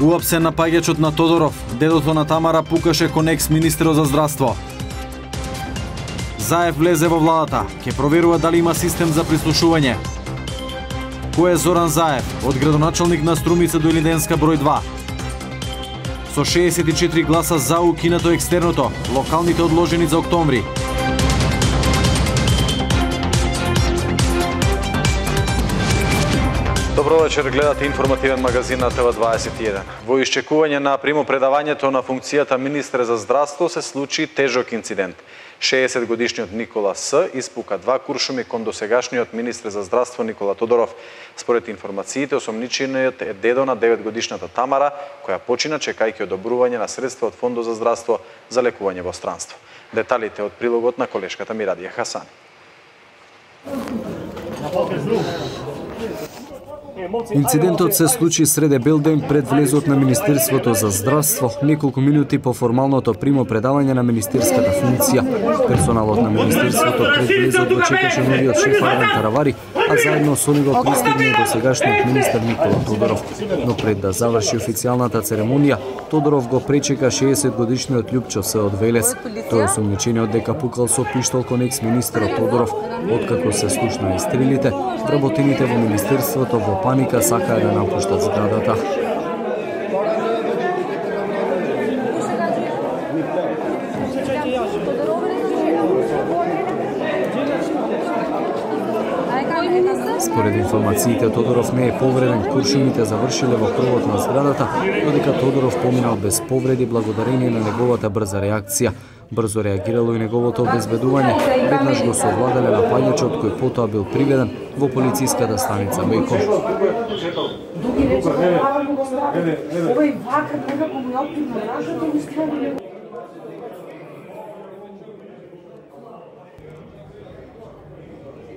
Уапсен напаѓачот на Тодоров, дедото на Тамара пукаше кон екс-министерот за здравство. Заев влезе во владата, ќе проверува дали има систем за прислушување. Кој е Зоран Заев, од градоначалник на Струмица до Илинденска број 2? Со 64 гласа за укинато екстерното, локалните одложени за октомври. Добро вечер, гледате информативен магазин на ТВ21. Во исчекување на примопредавањето на функцијата министер за здравство се случи тежок инцидент. 60-годишниот Никола С. испука 2 куршуми кон досегашниот министер за здравство Никола Тодоров. Според информациите, осомничениот е дедо на 9-годишната Тамара, која почина чекајќи одобрување на средства од Фондот за здравство за лекување во странство. Деталите од прилогот на колешката Мирадија Хасани. Инцидентот се случи среде белден пред влезот на Министерството за здравство, неколку минути по формалното примопредавање на министерската функција. Персоналот на Министерството пред влезот го чекаше новиот шеф Арвен Таравари, а заедно со него пристигна досегашниот министер Никола Тодоров. Но пред да заврши официјалната церемонија, Тодоров го пречека 60-годишниот Љупчо С. од Велес. Тој осумничениот дека пукал со пиштол кон екс-министерот Тодоров. Откако се слушна и стрелите, вработените во Министерството во паника сакаа да напуштат зградата. Според информациите, Тодоров не е повреден, куршумите завршиле во кровот на зградата, додека Тодоров поминал без повреди благодарение на неговата брза реакција. Брзо реагирало и неговото обезбедување, веднаш го совладале напаѓачот кој потоа бил приведен во полициската станица Бејков.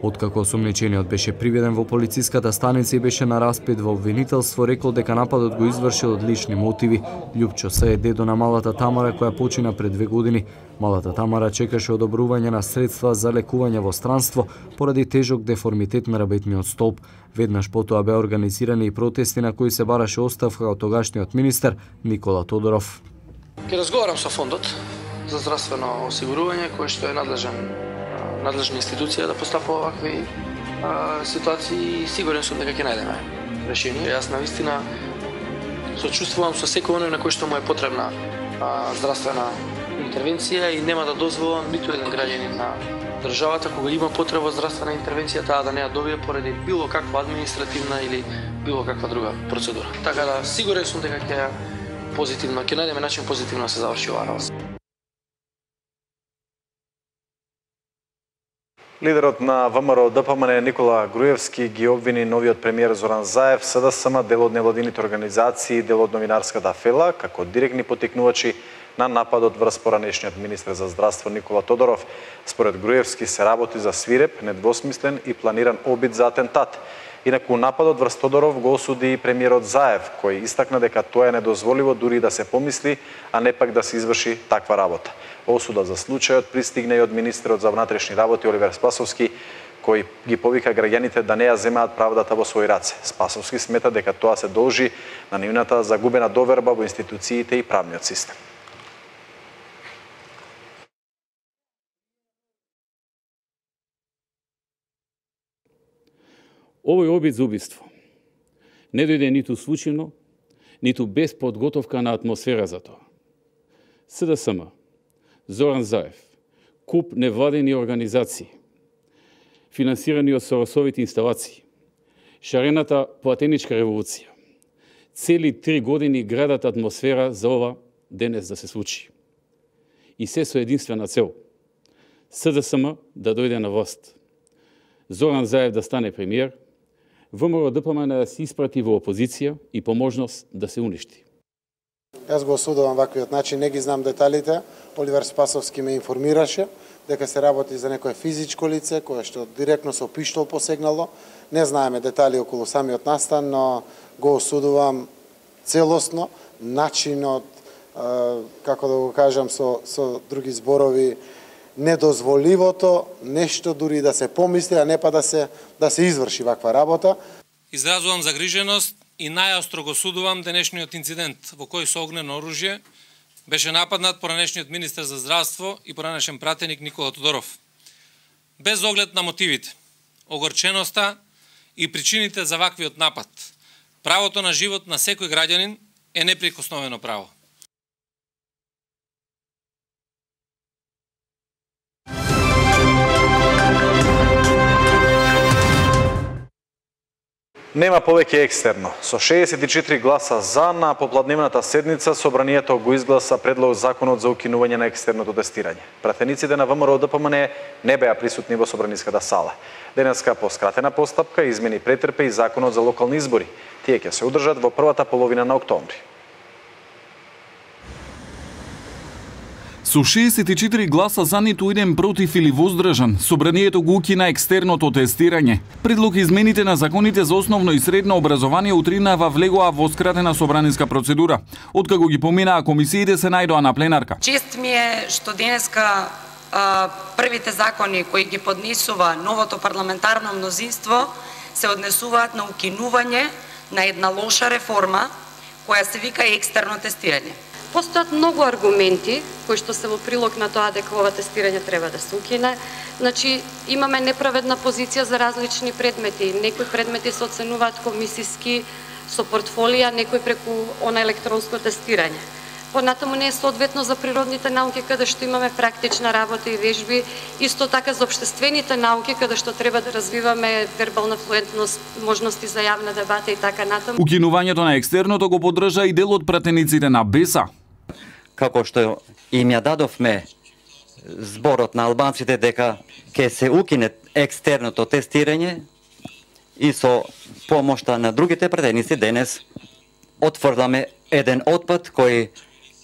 Откако осумничениот беше приведен во полициската станица и беше на распит во обвинителство, рекол дека нападот го извршил од лични мотиви. Љупчо С. е дедо на малата Тамара која почина пред 2 години. Малата Тамара чекаше одобрување на средства за лекување во странство поради тежок деформитет на рабетниот столб. Веднаш потоа беа организирани и протести на кои се бараше оставка од тогашниот министер Никола Тодоров. Ќе разговарам со фондот за здравствено осигурување кој што е надлежна институција да постапува овакви ситуации и сигурен сум дека ќе најдеме решение. Јас навистина сочувствувам со секој оној на кој што му е потребна здравствена интервенција и нема да дозволам ниту еден граѓанин на државата кога има потреба од здравствена интервенција таа да не ја добие поради било каква административна или било каква друга процедура. Така да сигурен сум дека ќе најдеме начин позитивно да се заврши оваа работа. Лидерот на ВМРО ДПМН Никола Груевски ги обвини новиот премиер Зоран Заев, СДСМ, дел од невладините организации и дел од новинарската фела, како директни потикнувачи на нападот врз поранешниот министер за здравство Никола Тодоров. Според Груевски се работи за свиреп, недвосмислен и планиран обид за атентат. Инаку нападот врз Тодоров го осуди и премиерот Заев, кој истакна дека тоа е недозволиво дури да се помисли, а не пак да се изврши таква работа. Осуда за случајот пристигна и од министерот за внатрешни работи Оливер Спасовски, кој ги повика граѓаните да не ја земаат правдата во своји раце. Спасовски смета дека тоа се должи на нивната загубена доверба во институциите и правниот систем. Овој обид за убиство не дојде ниту случајно, ниту без подготовка на атмосфера за тоа. СДСМ, Зоран Заев, куп невладени организации, финансирани од Соросовите инсталации, шарената платеничка револуција, цели 3 години градат атмосфера за ова денес да се случи. И се со единствена цел – СДСМ да дојде на власт, Зоран Заев да стане премиер, ВМРО ДПМН да се испрати во опозиција и по можност да се уништи. Јас го осудувам ваквиот начин, не ги знам деталите. Оливер Спасовски ме информираше дека се работи за некое физичко лице кое што директно со пиштол посегнало. Не знаеме детали околу самиот настан, но го осудувам целосно начинот, како да го кажам со други зборови, недозволивото нешто дури да се помисли, а не па да се изврши ваква работа. Изразувам загриженост и најостро го судувам денешниот инцидент во кој со огнено оружје беше нападнат поранешниот министер за здравство и поранешен пратеник Никола Тодоров. Без оглед на мотивите, огорченоста и причините за ваквиот напад, правото на живот на секој граѓанин е неприкосновено право. Нема повеќе екстерно. Со 64 гласа за на попладневната седница собранието го изгласа предлог законот за укинување на екстерното тестирање. Пратениците на ВМРО ДПМН не беа присутни во собраниската сала. Денеска по скратена постапка измени претрпе и законот за локални избори. Тие ќе се одржат во првата половина на октомври. Со 64 гласа за, ниту еден против или воздржан, собранието го укина екстерното тестирање. Предлог измените на законите за основно и средно образование утринава влегоа во скратена собраниска процедура. Откако ги поминаа комисиите се најдоа на пленарка. Чест ми е што денеска првите закони кои ги поднесува новото парламентарно мнозинство се однесуваат на укинување на една лоша реформа која се вика екстерно тестирање. Постојат многу аргументи кои што се во прилог на тоа дека ова тестирање треба да се укине. Значи, имаме неправедна позиција за различни предмети. Некои предмети се оценуваат комисиски со портфолија, некои преку она електронско тестирање. Понатаму не е соодветно за природните науки, каде што имаме практична работа и вежби, исто така за општествените науки, каде што треба да развиваме вербална флуентност, можности за јавна дебата и така натаму. Укинувањето на екстерното го поддржа и дел од пратениците на БЕСА. Како што им ја дадовме зборот на албанците дека ќе се укине екстерното тестирање и со помошта на другите пратеници денес отврдаме еден отпад кој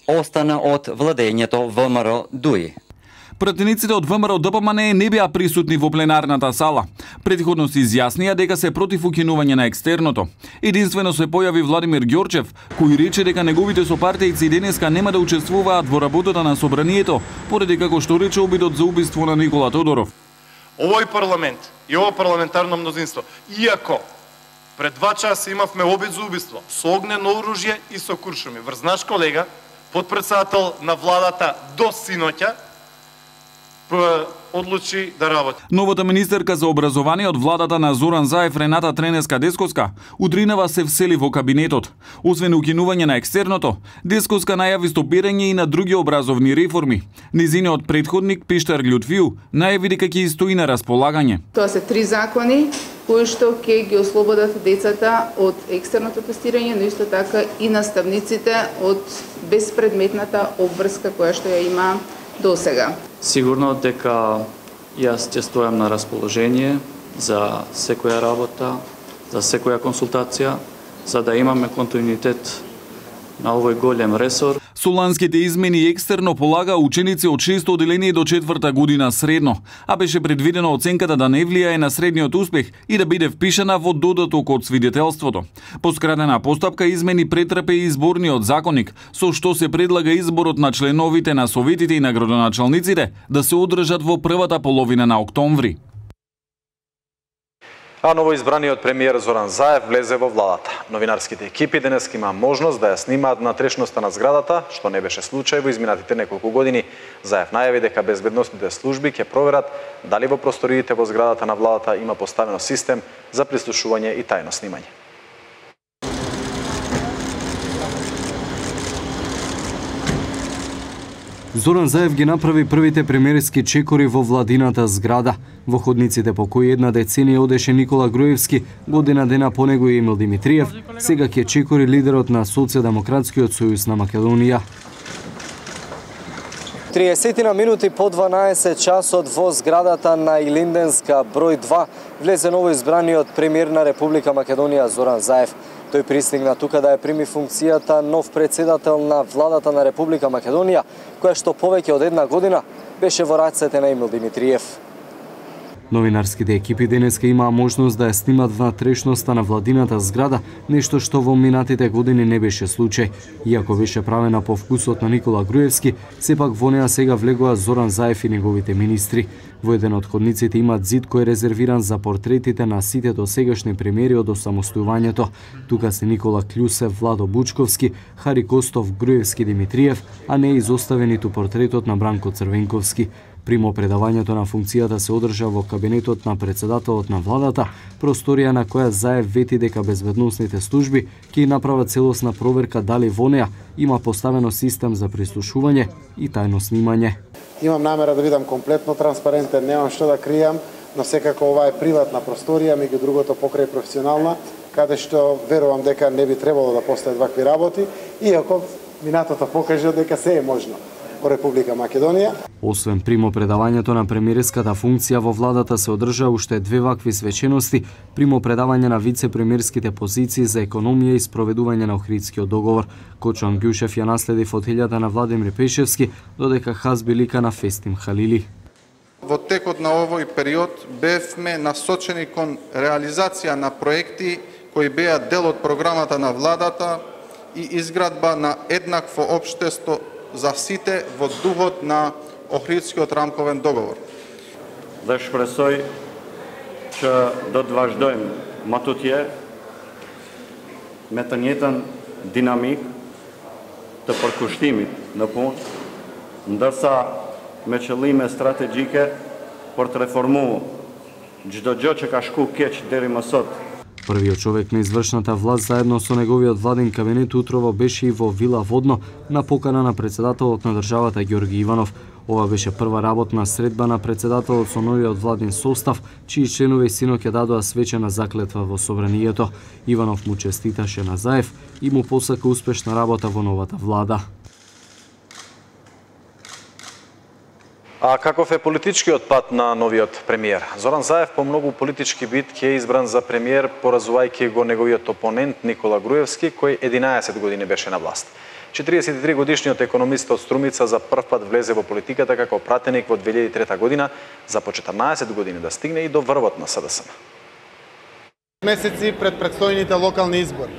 остана од владењето ВМРО ДУИ. Пратениците од ВМРО ДПМН не беа присутни во пленарната сала. Предходно се изјаснија дека се против укинување на екстерното. Единствено се појави Владимир Ѓорчев, кој рече дека неговите сопартејци денеска нема да учествуваат во работата на собранието, поради како што рече обидот за убиство на Никола Тодоров. Овој парламент и ова парламентарно мнозинство, иако пред 2 часа имавме обид за убиство со огнено оружје и со куршуми, врз наш колега, подпредседател на владата до синоќа, одлучи да работи. Новата министерка за образование од владата на Зоран Заев, Рената Тренеска-Десковска, утринава се всели во кабинетот. Освен укинување на екстерното, Десковска најави стопирање и на други образовни реформи. Низиниот претходник Пиштар Љутвију најави дека ќе стои на располагање. Тоа се 3 закони кои што ќе ги ослободат децата од екстерното тестирање, но исто така и наставниците од безпредметната обврска која што ја има до сега. Сигурно дека јас ќе стојам на расположение за секоја работа, за секоја консултација, за да имаме континуитет на овој голем ресор. Со ланските измени екстерно полага ученици од 6 одделение до 4-та година средно, а беше предвидено оценката да не влијае на средниот успех и да биде впишана во додаток од свидетелството. По скратена постапка измени претрпе и изборниот законник, со што се предлага изборот на членовите на советите и на градоначалниците да се одржат во првата половина на октомври. А новоизбраниот премиер Зоран Заев влезе во владата. Новинарските екипи денес има можност да ја снимаат внатрешноста на зградата, што не беше случај во изминатите неколку години. Заев најави дека безбедносните служби ќе проверат дали во просториите во зградата на владата има поставено систем за прислушување и тајно снимање. Зоран Заев ги направи првите премиерски чекори во владината зграда. Во ходниците по кои една деценија одеше Никола Груевски, година дена по него и Емил Димитриев, сега ќе чекори лидерот на Социјалдемократскиот сојуз на Македонија. 30 минути по 12 часот во зградата на Илинденска број 2 влезе новоизбраниот премиер на Република Македонија Зоран Заев. Тој пристигна тука да ја прими функцијата нов председател на владата на Република Македонија, која што повеќе од една година беше во рацете на Емил Димитриев. Новинарските екипи денеска имаа можност да ја снимат внатрешноста на владината зграда, нешто што во минатите години не беше случај. Иако беше правена по вкусот на Никола Груевски, сепак во неа сега влегоа Зоран Заев и неговите министри. Во еден од ходниците имаат зид кој е резервиран за портретите на сите досегашни премиери од осамостојувањето. Тука се Никола Клјусев, Владо Бучковски, Хари Костов, Груевски, Димитриев, а не е изоставен ниту портретот на Бранко Црвенковски. Примопредавањето на функцијата се одржа во кабинетот на председателот на владата, просторија на која Заев вети дека безбедносните служби ќе направат целосна проверка дали во неа има поставено систем за прислушување и тајно снимање. Имам намера да бидам комплетно транспарентен, немам што да кријам, но секако ова е приватна просторија, меѓу другото покрај професионална, каде што верувам дека не би требало да постојат вакви работи, иако минатото покажа дека се е можно во Република Македонија. Освен примопредавањето на премиерската функција во владата се одржа уште две вакви свечености: примопредавање на вице-премиерските позиции за економија и спроведување на Охридскиот договор. Кочан Ѓушев ја наследи фотелјата на Владимир Пешевски, додека Хазби лика на Фестим Халили. Во текот на овој период бевме насочени кон реализација на проекти кои беа дел од програмата на владата и изградба на еднакво општество за сите во духот на Охридскиот рамковен договор. Dhe shpresoj që do të vazhdojmë më tutje me të njëjtën dinamik të përkushtimit në punë, ndërsa me qëllime strategjike për të reformuar çdo gjë që ka shku keq deri më sot. Првиот човек на извршната власт заедно со неговиот владин кабинет утрово беше и во Вила Водно на покана на председателот на државата Ѓорги Иванов. Ова беше прва работна средба на председателот со новиот владин состав, чии членови синоќ ја дадоа свечена заклетва во собранието. Иванов му честиташе на Заев и му посака успешна работа во новата влада. А каков е политичкиот пат на новиот премиер? Зоран Заев по многу политички битки е избран за премиер, поразувајќи го неговиот опонент Никола Груевски, кој 11 години беше на власт. 43 годишниот економист од Струмица за прв пат влезе во политиката како пратеник во 2003 година, за по 14 години да стигне и до врвот на СДСМ. Месеци пред предстојните локални избори.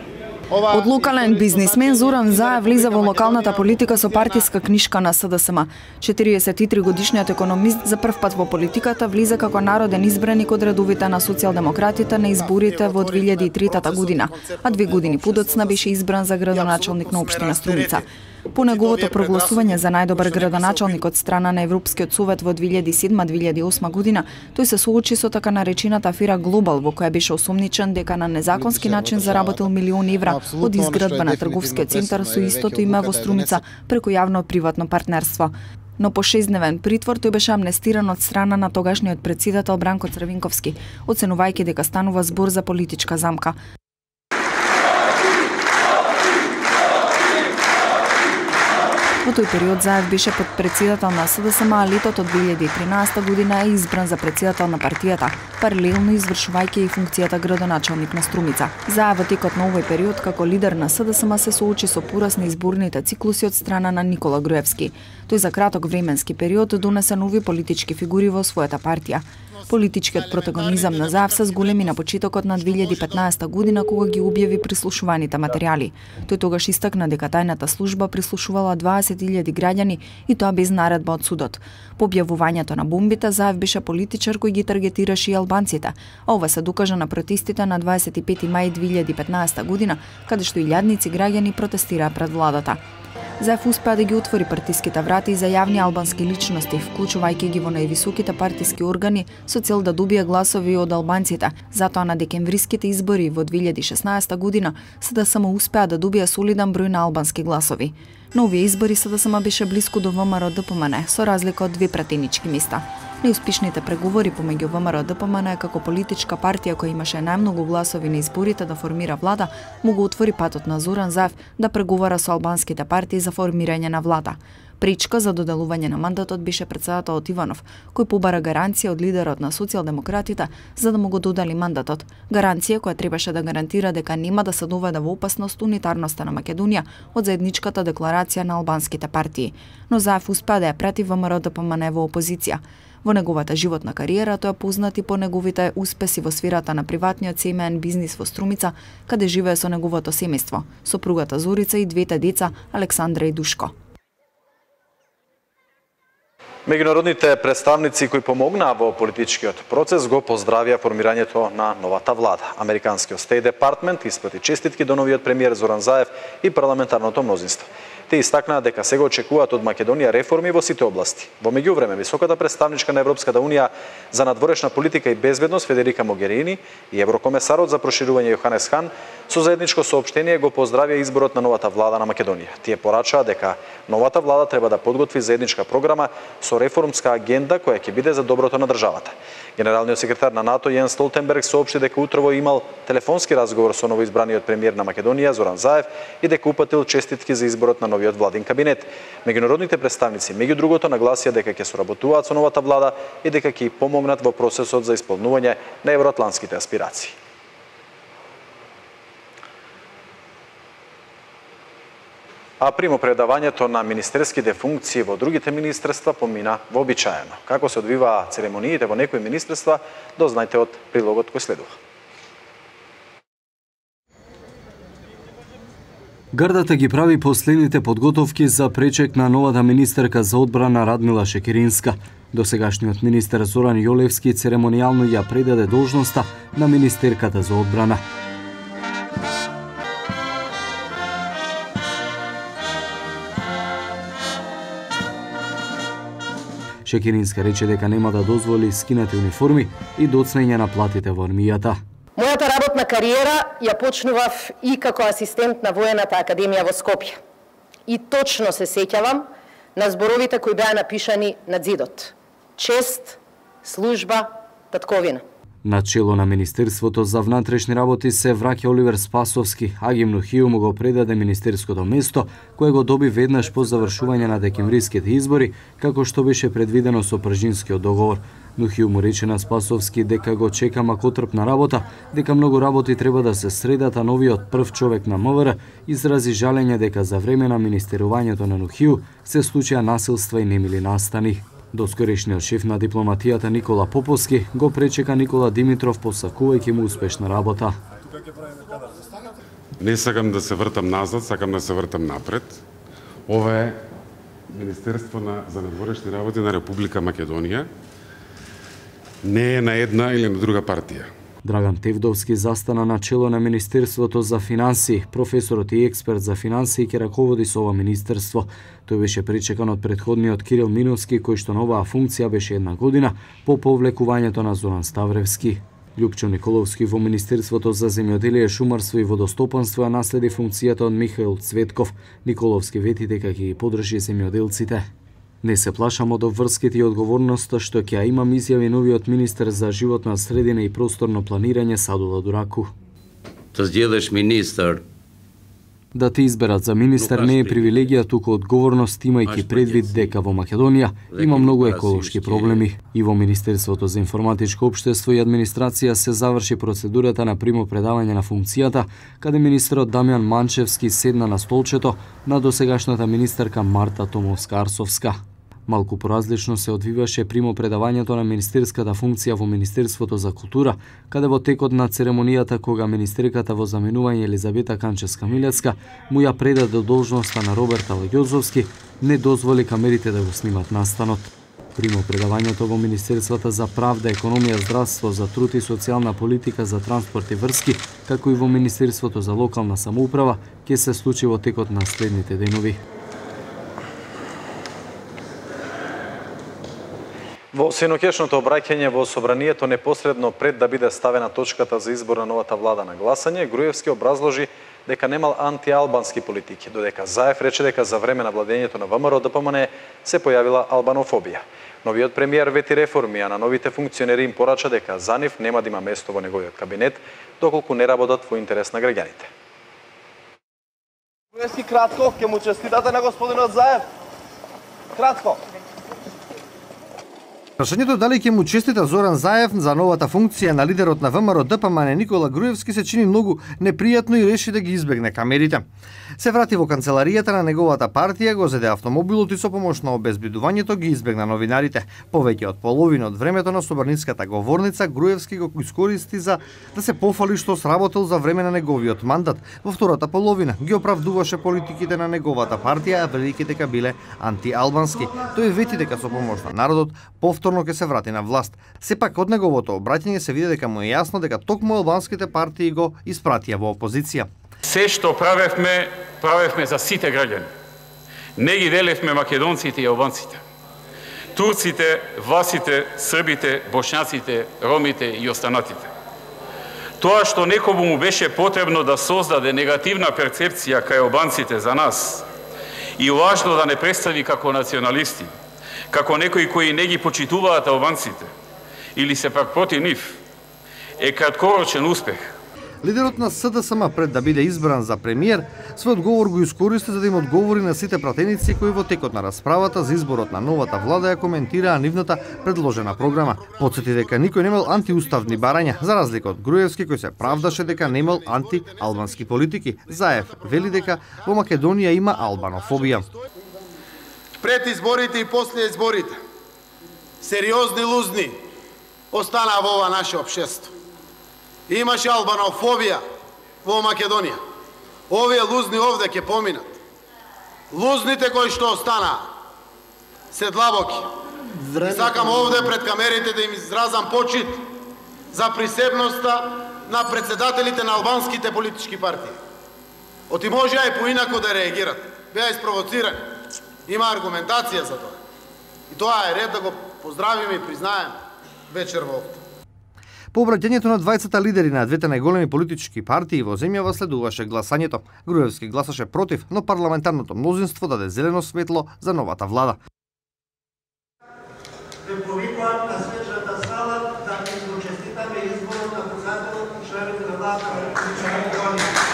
Од локален бизнисмен Зоран Заев влиза во локалната политика со партиска книшка на СДСМ. 43 годишниот економист за прв пат во политиката влиза како народен избраник од редовите на социјалдемократите на изборите во 2003 година, а 2 години подоцна беше избран за градоначалник на општина Струмица. По неговото прогласување за најдобар градоначалник од страна на Европскиот совет во 2007-2008 година, тој се соочи со така наречената афера Глобал, во која беше осомничен дека на незаконски начин заработил милиони евра од изградба на трговскиот центар со истото име во Струмица преку јавно-приватно партнерство. Но по 6-дневен притвор тој беше амнестиран од страна на тогашниот претседател Бранко Црвенковски, оценувајќи дека станува збор за политичка замка. Во тој период Заев беше подпредседател на СДСМ, а летото 2013 година е избран за председател на партијата, паралелно извршувајќи и функцијата градоначалник на Струмица. Заев во текот на овој период како лидер на СДСМ се соочи со порас на изборните циклуси од страна на Никола Груевски. Тој за краток временски период донесе нови политички фигури во својата партија. Политичкиот протагонизам на Заев се зголеми на почетокот на 2015 година кога ги објави прислушуваните материјали. Тој тогаш истакна дека тајната служба прислушувала 20.000 граѓани и тоа без наредба од судот. По објавувањето на бомбите Заев беше политичар кој ги таргетираше и албанците, а ова се докажа на протестите на 25 мај 2015 година, каде што илјадници граѓани протестираа пред владата. Заев успеа да ги отвори партиските врати за јавни албански личности, вклучувајќи ги во највисоките партиски органи со цел да добие гласови од албанците. Затоа на декемвриските избори во 2016 година СДСМ успеа да добие солиден број на албански гласови. На овие избори СДСМ беше блиску до ВМРО ДПМН, со разлика од 2 пратенички места. Неуспешните преговори помеѓу ВМРО ДПМН како политичка партија која имаше најмногу гласови на изборите да формира влада, му го отвори патот на Зоран Заев да преговара со албанските партии за формирање на влада. Пречка за доделување на мандатот беше председателот Иванов, кој побара гаранција од лидерот на социјалдемократите за да му го додели мандатот. Гаранција која требаше да гарантира дека нема да се доведе во опасност унитарноста на Македонија од заедничката декларација на албанските партии. Но Заев успеа да ја прати ВМРО ДПМН во опозиција. Во неговата животна кариера тој е познат и по неговите успеси во сферата на приватниот семеен бизнис во Струмица, каде живее со неговото семејство, сопругата Зорица и двете деца Александра и Душко. Меѓународните представници кои помогнаа во политичкиот процес го поздравија формирањето на новата влада. Американскиот State Department испрати честитки до новиот премиер Зоран Заев и парламентарното мнозинство. Те истакнаа дека сега очекуваат од Македонија реформи во сите области. Во меѓувреме, високата представничка на Европската унија за надворешна политика и безбедност Федерика Могерини и еврокомесарот за проширување Јоханес Хан со заедничко соопштение го поздравија изборот на новата влада на Македонија. Тие порачаа дека новата влада треба да подготви заедничка програма со реформска агенда која ќе биде за доброто на државата. Генералниот секретар на НАТО Јенс Столтенберг соопшти дека утрово имал телефонски разговор со новоизбраниот премиер на Македонија Зоран Заев и дека упатил честитки за изборот на новиот владин кабинет. Меѓународните представници меѓу другото нагласија дека ќе соработуваат со новата влада и дека ќе помогнат во процесот за исполнување на евроатлантските аспирации. А примопредавањето на министерските функции во другите министерства помина вообичаено. Како се одвиваа церемониите во некои министерства, дознајте од прилогот кој следува. Гардата ги прави последните подготовки за пречек на новата министерка за одбрана Радмила Шекеринска. Досегашниот министер Зоран Јолевски церемонијално ја предаде должноста на министерката за одбрана. Шекеринска рече дека нема да дозволи скинати униформи и доцнење на платите во армијата. Мојата работна кариера ја почнував и како асистент на Воената академија во Скопје. И точно се сеќавам на зборовите кои беа напишани на зидот. Чест, служба, татковина. На чело на Министерството за внатрешни работи се враќа Оливер Спасовски, а Агим Нухију му го предаде министерското место, кое го доби веднаш по завршување на декемвриските избори, како што беше предвидено со Пржинскиот договор. Нухију му рече на Спасовски дека го чека макотрпна работа, дека многу работи треба да се средат, а новиот прв човек на МВР изрази жалење дека за време на министерувањето на Нухију се случија насилства и немили настани. Доскорешниот шеф на дипломатијата Никола Поповски го пречека Никола Димитров посакувајќи му успешна работа. Не сакам да се вртам назад, сакам да се вртам напред. Ова е Министерство за надворешни работи на Република Македонија. Не е на една или на друга партија. Драган Тевдовски застана на чело на Министерството за финансии. Професорот и експерт за финансии ќе раководи со ова министерство. Тој беше пречекан од претходниот Кирил Миновски, кој што на оваа функција беше една година по повлекувањето на Зоран Ставревски. Љупчо Николовски во Министерството за земјоделие, шумарство и водостопанство ја наследи функцијата од Михаил Цветков. Николовски вети дека ќе ги подржи земјоделците. Не се плашам од обврските и одговорноста што ќе ја имам, изјави новиот министер за животна средина и просторно планирање Садула Дураку. Да те изберат за министер не е привилегија, туку одговорност, имајќи предвид дека во Македонија има многу еколошки проблеми. И во Министерството за информатичко општество и администрација се заврши процедурата на примопредавање на функцијата, каде министерот Дамјан Манчевски седна на столчето на досегашната министерка Марта Томовска-Арсовска. Малку поразлично се одвиваше примопредавањето на министерската функција во Министерството за култура, каде во текот на церемонијата кога министерката во заменување Елизавета Канчевска-Милецка му ја предаде должноста на Роберт Алагјозовски, не дозволи камерите да го снимат настанот. Примопредавањето во Министерствата за правда, економија, здравство, за труд и социјална политика, за транспорт и врски, како и во Министерството за локална самоуправа, ќе се случи во текот на следните денови. Во синоќешното обраќање во собранието непосредно пред да биде ставена точката за избор на новата влада на гласање, Груевски образложи дека немал антиалбански политики, додека Заев рече дека за време на владењето на ВМРО ДПМН се појавила албанофобија. Новиот премиер вети реформи, а на новите функционери им порача дека за нив нема да има место во неговиот кабинет, доколку не работат во интерес на граѓаните. Груевски, кратко, ќе му честитате на господинот Заев. Кратко. Прашањето дали ќе му честита Зоран Заев за новата функција на лидерот на ВМРО ДПМН Никола Груевски се чини многу непријатно и реши да ги избегне камерите. Се врати во канцеларијата на неговата партија, го зеде автомобилот и со помош на обезбедувањето ги избегна новинарите. Повеќе од половина од времето на соборницката говорница Груевски го искористи за да се пофали што сработил за време на неговиот мандат. Во втората половина ги оправдуваше политиките на неговата партија, велики дека биле антиалбански. Тој вети дека со помош на народот повторно ќе се врати на власт. Сепак од неговото обраќање се види дека му е јасно дека токму албанските партии го испратија во опозиција. Се што правевме за сите граѓани. Не ги делевме македонците и албанците. Турците, власите, србите, бошњаците, ромите и останатите. Тоа што некому му беше потребно да создаде негативна перцепција кај албанците за нас и лажно да не представи како националисти, како некои кои не ги почитуваат албанците или се пак против нив, е краткорочен успех. Лидерот на СДСМ пред да биде избран за премиер, својот говор го искористи за да им одговори на сите пратеници кои во текот на расправата за изборот на новата влада ја коментираа нивната предложена програма. Потсети дека никој немал антиуставни барања, за разлика од Груевски кој се правдаше дека немал антиалбански политики. Заев вели дека во Македонија има албанофобија. Пред изборите и после изборите сериозни лузни останаа во ова наше општество. Имаше албанофобија во Македонија. Овие лузни овде ќе поминат. Лузните кои што останаа се длабоки. И сакам овде пред камерите да им изразам почит за присебноста на председателите на албанските политички партии. Оти можеа и поинако да реагират. Беа испровоцирани. Има аргументација за тоа. И тоа е ред да го поздравиме и признаеме вечер во овде. По обраќањето на двајцата лидери на двете најголеми политички партии во земјава следуваше гласањето. Груевски гласаше против, но парламентарното мнозинство даде зелено светло за новата влада. Повикувам на свечната сала да ми честитаме изборот на председателот и членовите на владата на Република Македонија.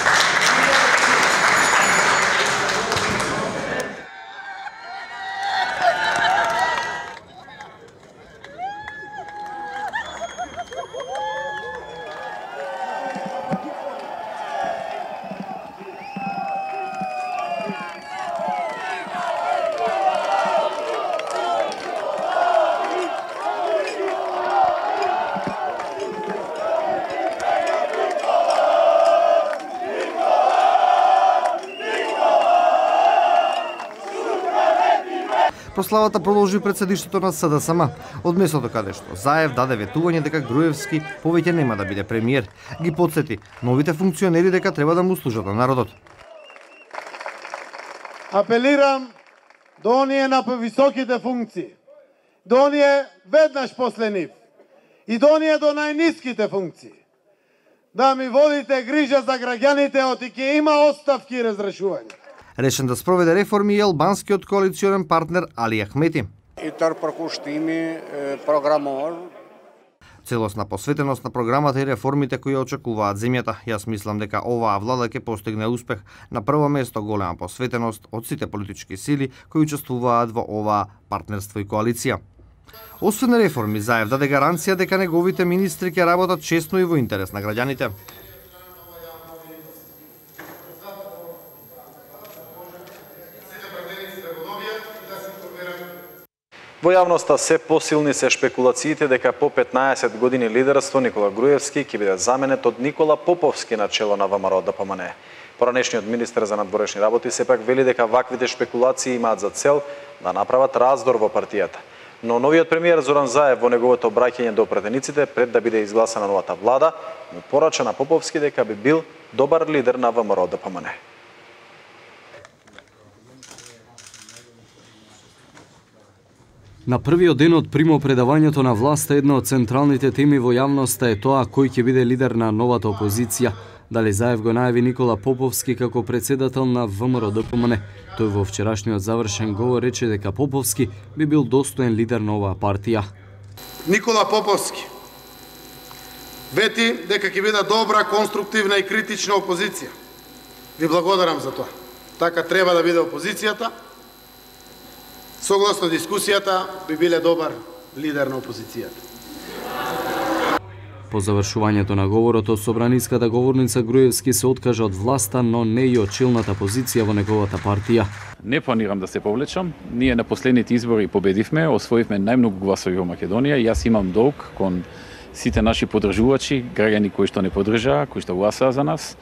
Прославата продолжи пред седиштето на СДСМ, од местото каде што Заев даде ветување дека Груевски повеќе нема да биде премиер. Ги потсети новите функционери дека треба да му служат на народот. Апелирам до оние на повисоките функции, до оние веднаш после нив и до оние до најниските функции, да ми водите грижа за граѓаните, оти ќе има оставки и разрешување. Решен да спроведе реформи и албанскиот коалиционен партнер Али Ахмети. И тар прокуштими програмор. Целосна посветеност на програмата и реформите кои очекуваат земјата. Јас мислам дека оваа влада ќе постигне успех. На прво место голема посветеност од сите политички сили кои учествуваат во оваа партнерство и коалиција. Освен реформи, Заев даде гаранција дека неговите министри ќе работат честно и во интерес на граѓаните. Во јавноста се посилни се шпекулациите дека по 15 години лидерство Никола Груевски ќе биде заменет од Никола Поповски на чело на ВМРО ДПМН. Поранешниот министер за надворешни работи сепак вели дека ваквите шпекулации имаат за цел да направат раздор во партијата. Но новиот премиер Зоран Заев во неговото обраќање до пратениците пред да биде изгласана новата влада, му порача на Поповски дека би бил добар лидер на ВМРО ДПМН. На првиот ден од примопредавањето на власта, една од централните теми во јавноста е тоа кој ќе биде лидер на новата опозиција. Дали Заев го најави Никола Поповски како председател на ВМРО ДПМН. Тој во вчерашниот завршен говор рече дека Поповски би бил достоен лидер на оваа партија. Никола Поповски вети дека ќе биде добра, конструктивна и критична опозиција. Ви благодарам за тоа. Така треба да биде опозицијата. Согласно дискусијата би биле добар лидер на опозицијата. По завршувањето на говорот, собраниската говорница Груевски се откажа од власта, но не и од челната позиција во неговата партија. Не планирам да се повлечам. Ние на последните избори победивме, освоивме најмногу гласови во Македонија. Јас имам долг кон сите наши поддржувачи, граѓани кои што не поддржаа, кои што гласаа за нас,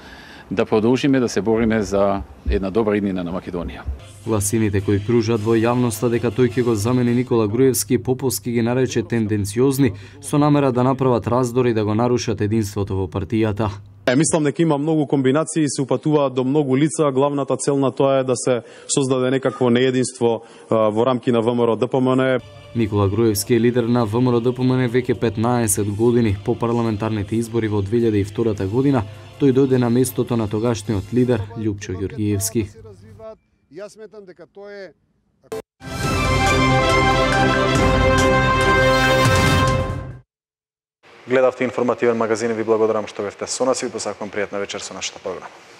да продолжиме да се бориме за една добра иднина на Македонија. Гласините кои кружат во јавноста дека тој ќе го замени Никола Груевски, Поповски ги нарече тенденциозни, со намера да направат раздор и да го нарушат единството во партијата. Мислам дека има многу комбинации и се упатуваат до многу лица. Главната цел на тоа е да се создаде некакво неединство во рамки на ВМРО ДПМН. Никола Груевски е лидер на ВМРО ДПМН веќе 15 години. По парламентарните избори во 2002 година, тој дојде на местото на тогашниот лидер Љупчо Ѓорѓиевски. Јас сметам дека тоа е Гледавте информативен магазин и ви благодарам што бевте со нас и ви посакувам пријатна вечер со нашата програма.